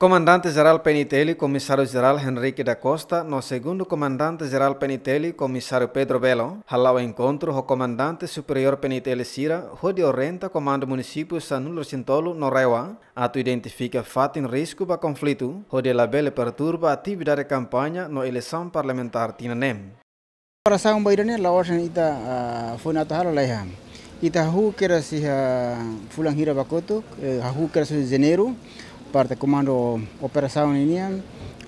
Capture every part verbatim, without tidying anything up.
Komandante Jerál P N I T L, Komisáriu Jerál Henrique da Costa, no Segundu Komandante Jerál P N I T L, Komisáriu Pedro Belo, hala'o enkontru ho Komandante Superiór P N I T L sira, hodi orienta Komandu Munisípiu sanulu-resin-tolu no RAEOA, atu identifika fatin risku ba konflitu, hodi labele perturba atividade kampaña no eleisaun parlamentár tinan ne'e. Operasaun ba ida-ne'e la'ós ita, ah, foin atu halo laiha. Ita hahú kedas iha fulan hira ba kotuk, eh, hahú kedas iha Janeiru, parte Komandu Operasaun ninian,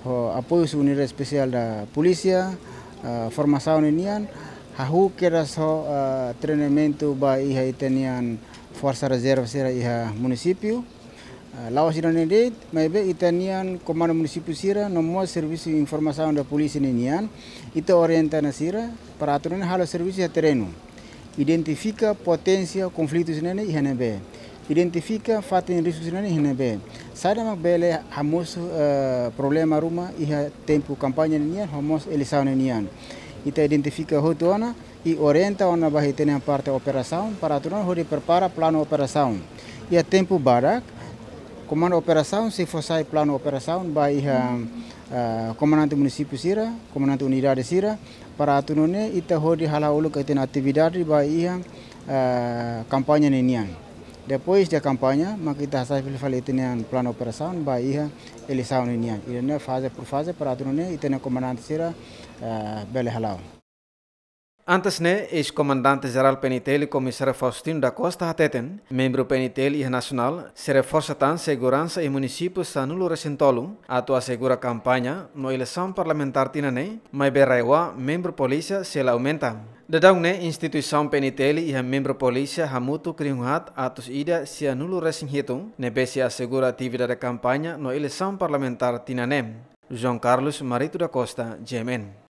ho apoiu husi Unidade Espesiál da Polísia, ah, formasaun ninian, hahú kedas ho, ah, treinamentu ba iha ita-nian Forsa Rezerva sira iha munisípiu. Ah, la'ós ida-ne'e de'it, maibé ita-nian Komandu Munisípiu sira, no mós Servisu Informasaun da Polísia ninian, ita orienta ona sira, para atu nune'e halo servisu iha terrenu. Identifika poténsia konflitu sira-ne'e iha ne'ebé. Identifika fatin risku sira-ne'e iha ne'ebé. Saida mak bele hamosu, eh, problema ruma iha tempu kampaña ninian, ho mós eleisaun ninian. Ita identifika hotu ona, i orienta ona ba ita-nia parte operasaun, para atu nune'e hodi prepara planu operasaun. Iha tempu badak, Komandu Operasaun sei fó sai planu operasaun ba iha, ah, komandante munisípiu sira, komandante unidade sira, para atu nune'e ita hodi hala'o uluk ita-nia atividade ba iha, ah, kampaña ninian. Depois de kampaña, mak ita hasai fila fali ita-nia planu operasaun ba iha eleisaun ninian. Ida-ne'e faze por faze para atu nune'e ita-nia komandante sira, ah, bele hala'o. Antes ne'e, eis-Komandante Jerál P N I T L, Komisáriu Faustino da Costa hateten, membru P N I T L iha nasionál sei reforsa tan seguransa iha munisípiu sanulu-resin-tolu, atu asegura kampaña no eleisaun parlamentár tinan ne'e, maibé RAEOA membru polísia sei la aumenta. Daudaun ne'e, instituisaun P N I T L iha membru polísia hamutuk rihun haat atus ida sianulu-resin-hitu, ne'ebé sei asegura atividade kampaña no eleisaun parlamentár tinan ne'e. João Carlos Marito da Costa, G M N.